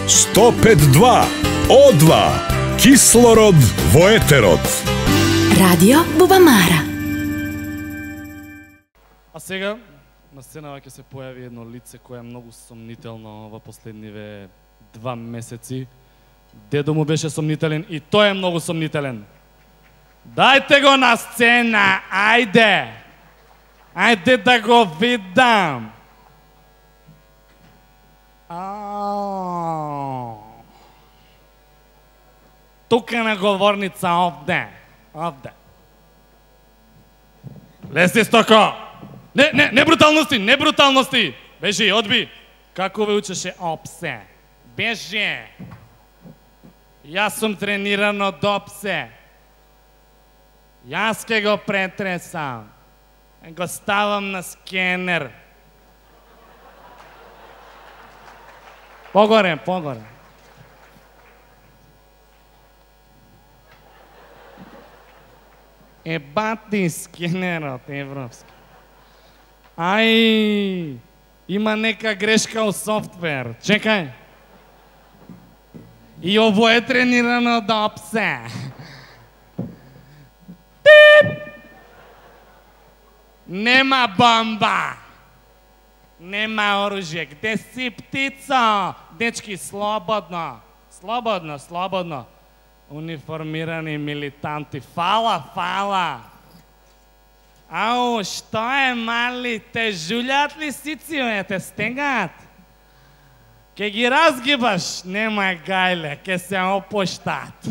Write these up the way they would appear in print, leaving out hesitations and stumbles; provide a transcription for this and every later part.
105.2 О2 Кислород во етерот. Радио Бубамара. А сега на сценава ќе се појави едно лице кое е многу сомнително во последниве 2 месеци. Дедо му беше сомнителен и тој е многу сомнителен. Дајте го на сцена, ајде! Ајде да го видам! Тука на говорница овде. Лезди стоко! Не бруталности, не бруталности! Бежи, одби! Како ве учеше опсе? Бежи! Јас сум трениран од опсе. Јас ке го претресам. Го ставам на скенер. Погоре. Ебати скенерот европски. Ај, има нека грешка у софтвер. Чекај. И ово е тренирано од опсе. Тип! Нема бомба. Нема оружје. Где си, птицо? Дечки, слободно. Слободно. Униформирани милитанти. Фала. Ау, што е, мали? Те жулјат ли сицио, те стегат? Ке ги разгибаш, нема гајле, ке се опуштат.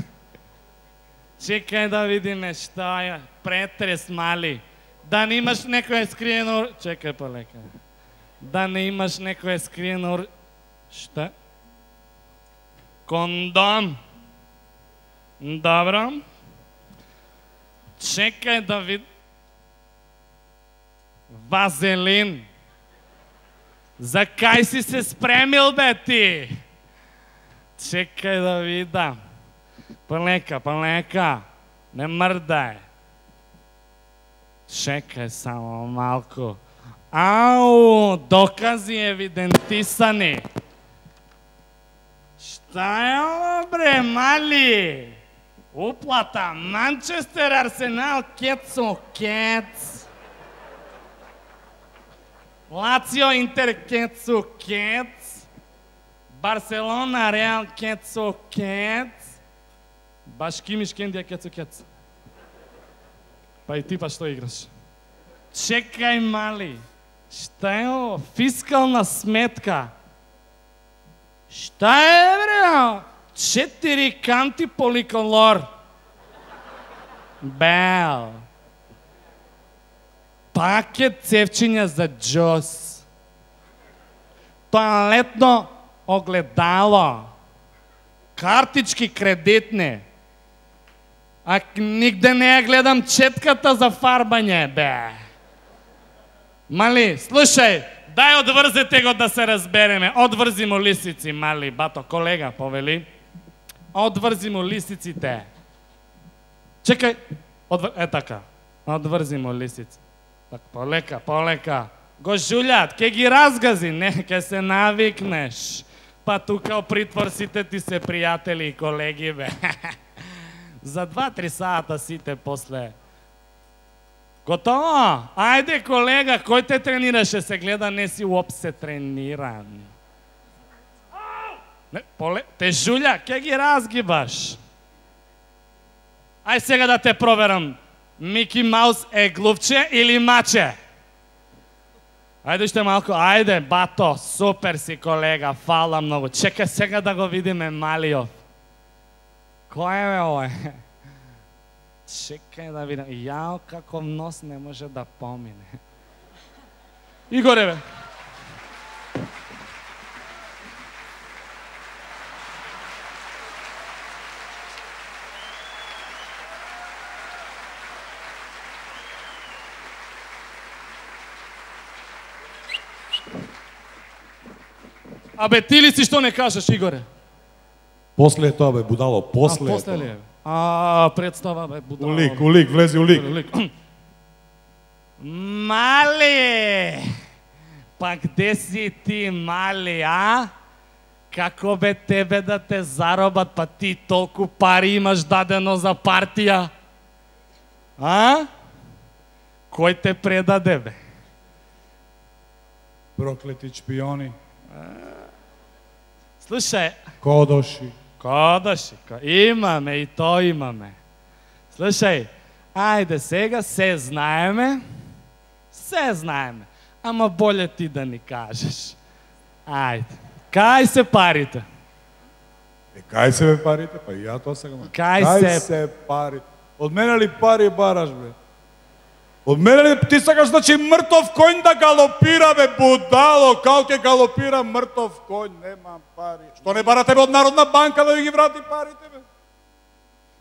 Чекај да видиме што е. Претрес, мали. Да не имаш некој скриено... Чекај полека. Да не имаш некој скриено... Што? Кондом. Добро. Чекај да вид... Вазелин. За кај си се спремил, бе, ти? Чекај да видам. Полека. Не мрдај. Чекај само малку. Ау, докази евидентисани. Шта е ово, бре, мали? Уплата, Манчестер, Арсенал, Кец. Лацио, Интер, Кец. Барселона, Реал, Кец. Баш Кимиш, Кендија, Кец. Па и ти па што играш? Чекај, мали. Шта е ово? Фискална сметка. Шта е, бре? 4 канти поликолор. Бел. Пакет цевчиња за джос. Тоалетно огледало. Картички кредитни. А нигде не ја гледам четката за фарбање, бе. Мали, слушај, дај одврзете го да се разбереме. Одврзи му лисици, мали, бато, колега, повели. Одврзи му лисиците. Чекај, така. Одврзи му лисици. Так, полека. Го жулјат, ке ги разгази, не, ке се навикнеш. Па тука у притвор сите ти се пријатели и колеги, бе. За 2-3 сата сите после. Готово? Ајде, колега, кој те тренираше? Се гледа, не си уопсе трениран. Те жулја, ке ги разгибаш. Ај сега да те проверам. Мики Маус е глувче или маче? Ајде уште малку, ајде, бато, супер си, колега, фала многу. Чекај сега да го видиме Малиов. Кој е ово? Чекај да видам. Јао, каков нос не може да помине. Игоре, бе. Абе, ти ли си што не кажеш, Игоре? После тоа, бе, будало, после после ли е? Представа, бе, будало. Улик, влези улик. Мали! Па где си ти, мали, а? како бе тебе да те заробат, па ти толку пари имаш дадено за партија? А? Кој те предаде, бе? Проклети шпиони. Слушај, Кодоши. имаме и то имаме. Слушај, ајде сега се знаеме, ама боле ти да ни кажеш. Ајде, кај се парите? Кај се бе парите? Па и ја тоа сега. Кај се пари? Од мене ли пари бараш, бе? Од мене ли ти сакаш, значи мртов коњ да галопира, бе, будало, као ќе галопира мртов коњ, нема пари. Што не барате бе од Народна банка да ви ги врати парите, бе?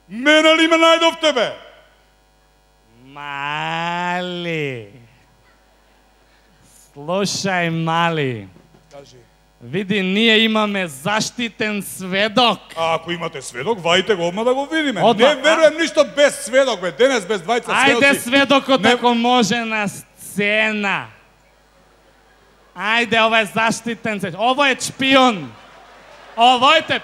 Мене ли ме најдовте, бе? Мали. Слушај, мали. Кажи. Види, ние имаме заштитен сведок. А ако имате сведок, вајте го одма да го видиме. Одма, Не верувам ништо без сведок, бе. Денес без двајца сведоци. Ајде сведокот Не- ако може на сцена. Ајде, ова е заштитен сведок. Ово е шпион. Овојте.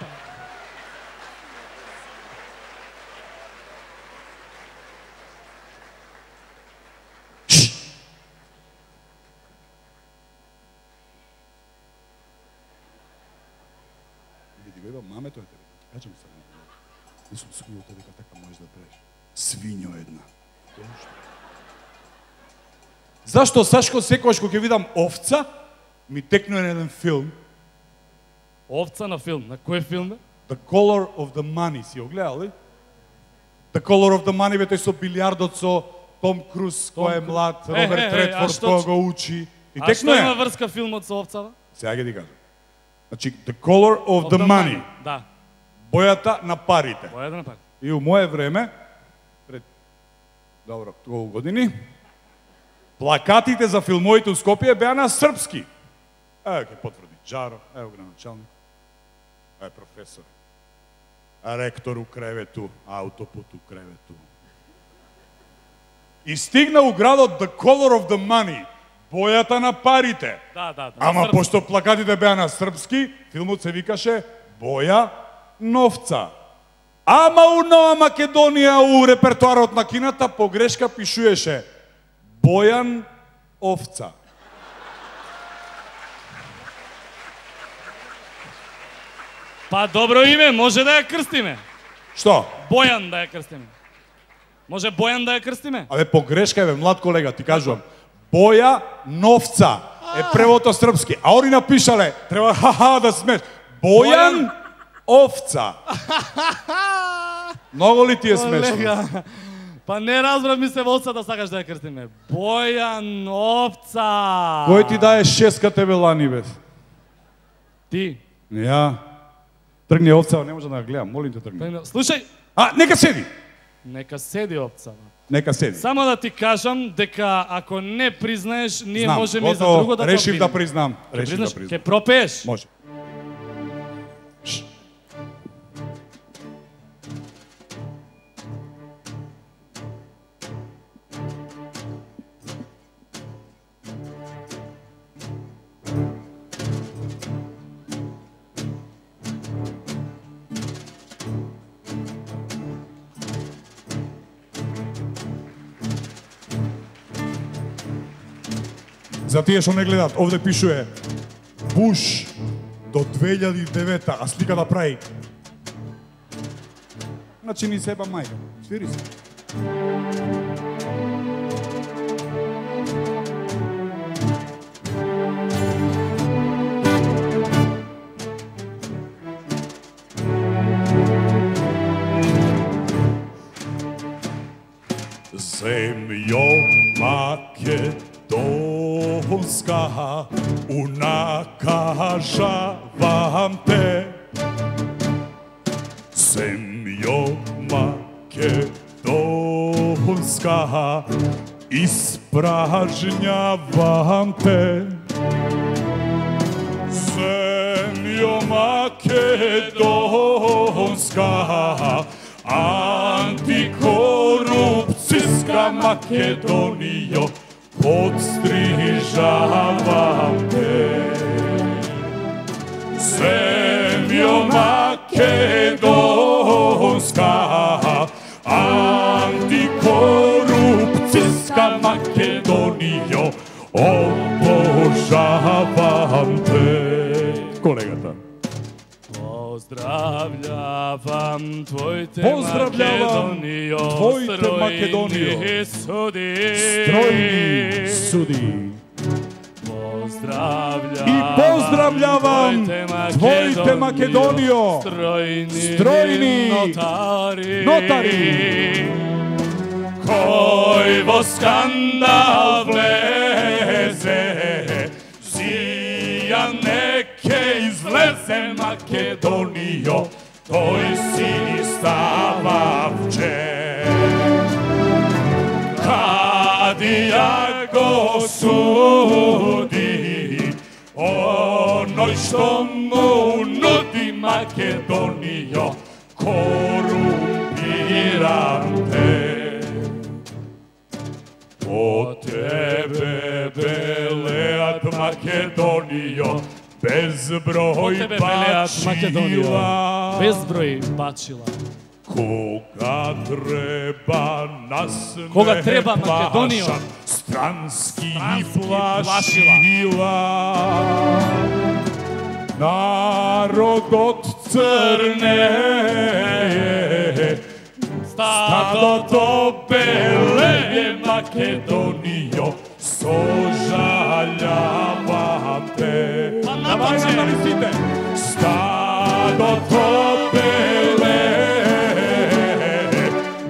Види, беба, мамето е тебе. Кажам се. Не сум сигурен дека така можеш да правиш. Свињо една. Зашто, Сашко, секогаш кога ќе видам овца, ми текнува на еден филм, Овца на филм. На кој филм бе? The Color of the Money, си го гледал ли? The Color of the Money, бе, тој со билиардот со Том Круз, кој е млад, Роберт Редфорд, кој го учи. И А што има текнува. врска филмот со овцава? Сега ќе ти кажам. Значи, The Color of the Money, Да. бојата на парите. Боја да напади. И у мое време, пред, добро, толку години, плакатите за филмовите у Скопје беа на српски. Ево ќе потврди Джаро, ево го началник, е професор, ректор у кревету, аутопут у кревету. И стигна у градот The Color of the Money, бојата на парите. Да. Ама Српски. пошто плакатите беа на српски, филмот се викаше Боја новца. Ама у Нова Македонија у репертуарот на кината погрешка пишуеше Бојан овца. Па добро име, може да ја крстиме. Што? Бојан да ја крстиме. Може Бојан да ја крстиме? Абе погрешка е, бе, млад колега, ти кажувам. Боја новца е превото српски. А они напишале, треба ха-ха да смеш. Бојан овца. Многу ли ти е смешно? Колега, па не разбрав ми се овца да сакаш да ја крстиме. Бојан овца. Кој ти дае шеската белани, бе? Ти. Ја. Тргни овца, не може да ја гледам, молим те тргни. Слушај, А, нека седи. нека седи овца. Нека седи. Само да ти кажам дека ако не признаеш, ние Знам, можеме и за готово, друго да решив да видиме. признам. Ќе Решив да признаш? признам. Ќе пропееш? Може. За тие што не гледаат, овде пишуе Буш до 2009, а слика да прави. Значи ни себа мајка. Свири се. Земјо македонска, унакажавам те. Земјо македонска, испражњавам те. Земјо македонска, антикорупцијска Македонијо, подстрижавам те. Македонио, македонска, антикорупцијска Македонио, обожавам те. Колегата. Поздравljавам твоите Македонио, стройни суди. Стройни суди. Поздравljавам твоите Македонио, стройни нотари, кој во скандал влезе, сија неке излезе Македонио, тој си ни става вче. Кадија го суди, оној што му нуди Македонио, корумпиран те. По тебе белеат Македонио, безброј бачила. Безброј бачила. Кога треба нас Кога треба Македонио, странски плашила. Народот црне, стадото беле Македонио, сожалјавам те. Давај на листите. Стадото беле,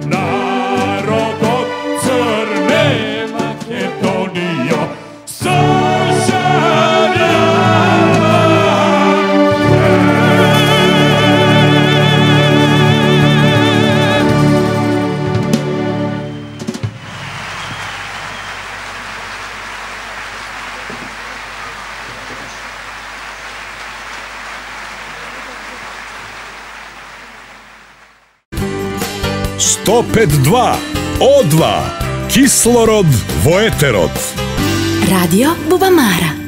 народот црне Македонио, О2 Кислород во етерот. Радио Бубамара.